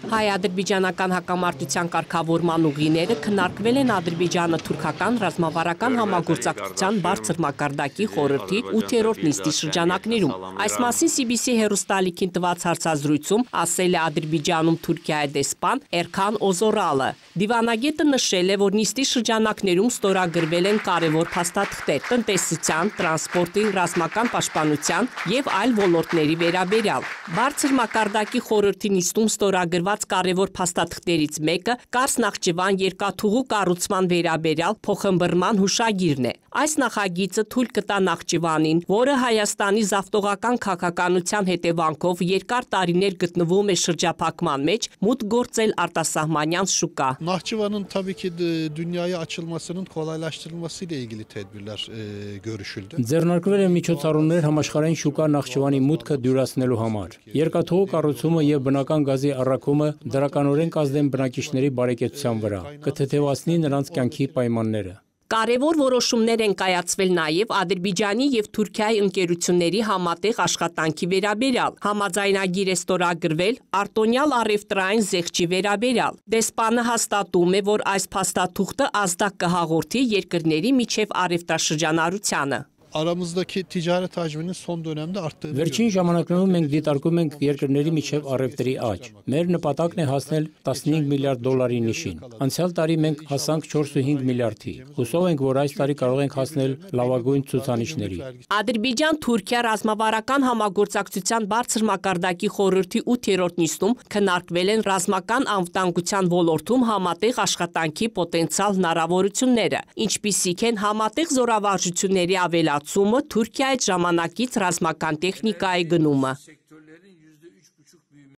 Հայ-ադրբեջանական հակամարտության կարգավորման ուղիները քննարկվել են ադրբեջանը-թուրքական ռազմավարական համագործակցության բարձր մակարդակի խորհրդի 8-րդ նիստի շրջանակներում։ Այս մասին CBC հեռուստաալիքին տված հարցազրույցում ասել է Ադրբեջանում Թուրքիայի դեսպան Էրքան Օզորալը։ Դիվանագետը նշել է, որ նիստի շրջանակներում ստորագրվել են կարևոր փաստաթղթեր տնտեսության, տրանսպորտի, ռազմական պաշտպանության և այլ ոլորտների վերաբերյալ։ Բարձր մակարդակի խորհրդի նիստում ստորագրված կարևոր փաստաթղթերից մեկը Կարս Նախճիվան երկաթուղու կառուցման վերաբերյալ փոխըմբռնման հուշագիրն է։ Այս նախագիծը թույլ կտա Նախճիվանին, որը Հայաստանի զավթողական քաղաքականության հետևանքով երկար տարիներ գտնվում է շրջափակման մեջ, մուտք գործել արտասահմանյան şuka. Nahçıvan'ın tabii ki dünyaya açılmasının kolaylaştırılmasıyla ilgili tedbirler görüşüldü. Ձեռնարկվել են միջոցառումներ համաշխարհային շուկա Նախճիվանի մուտքը դյուրացնելու համար։ Երկաթուղու կառուցումը եւ բնական գազի առաքումը դրականորեն կազդեն բնակիչների բարեկեցության վրա, կթեթևացնի նրանց կյանքի պայմանները։ Կարևոր որոշումներ են կայացվել նաև Ադրբեջանի և Թուրքիայի ընկերությունների համատեղ աշխատանքի վերաբերյալ։ Համաձայնագիր է ստորագրվել արտոնյալ առևտրային զեղչի վերաբերյալ։ Դեսպանը հաստատում է, որ այս փաստաթուղթը ազդակ կհաղորդի երկրների միջև առևտրաշրջանառությանը։ Aramızdaki ticaret hacminin son dönemde arttığını Վերջին ժամանակներում մենք դիտարկում ենք երկրների միջև առևտրի աճ։ Մեր նպատակն է հասնել 15 միլիարդ դոլարի նիշին։ Անցյալ տարի մենք հասանք 4.5 միլիարդի։ Հուսով ենք, որ այս տարի կարող ենք հասնել լավագույն ցուցանիշների։ Ադրբեջան-Թուրքիա ռազմավարական համագործակցության բարձր մակարդակի խորհրդի 8-րդ նիստում քննարկվել են ռազմական անվտանգության ոլորտում համատեղ աշխատանքի պոտենցիալ հնարավորությունները, ինչպիսիք են համատեղ զորավարժությունների ավելացումը, Թուրքիայի ժամանակից ռազմական տեխնիկայի գնումը։